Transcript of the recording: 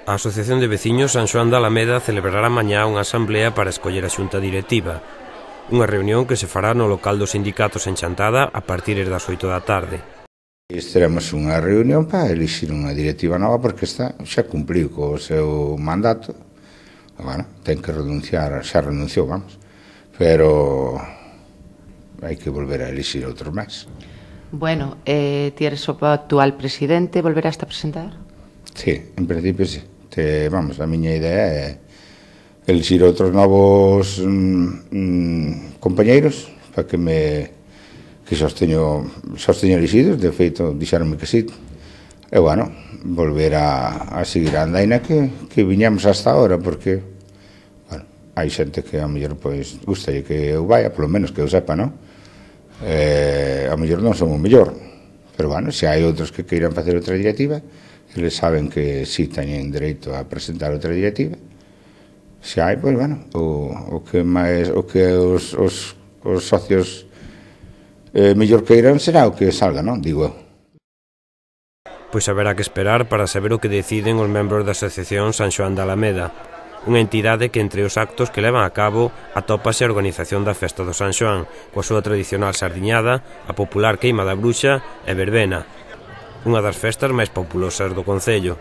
A Asociación de Veciños San Xoán da Alameda celebrará mañá unha asamblea para escoller a xunta directiva. Unha reunión que se fará no local dos sindicatos en Chantada a partir das 8 da tarde. Teremos unha reunión para elixir unha directiva nova porque esta xa cumpliu co seu mandato. Bueno, ten que renunciar, xa renunciou, vamos. Pero hai que volver a elixir outro máis. Bueno, ti eres o actual presidente, volverás a presentar? Sí, en principio sí. Vamos, a miña idea é elixir outros novos compañeiros para que xa os teño elixidos. De feito, dixeronme que sí. E, bueno, volver a seguir a andaina que viñamos hasta ahora, porque, bueno, hai xente que a mellor, pois, gustalle que eu vaya, polo menos que eu sepa, non? A mellor non son o mellor, pero, bueno, se hai outros que queiran facer outra directiva, eles saben que si teñen dereito a presentar outra directiva. Se hai, pois, bueno, o que os socios mellor queiran será o que salga, non? Digo eu. Pois haberá que esperar para saber o que deciden os membros da Asociación San Xoán da Alameda, unha entidade que entre os actos que levan a cabo atópase a organización da Festa do San Xoán, coa súa tradicional sardiñada, a popular queima da bruxa e verbena, unha das festas máis populosas do concello.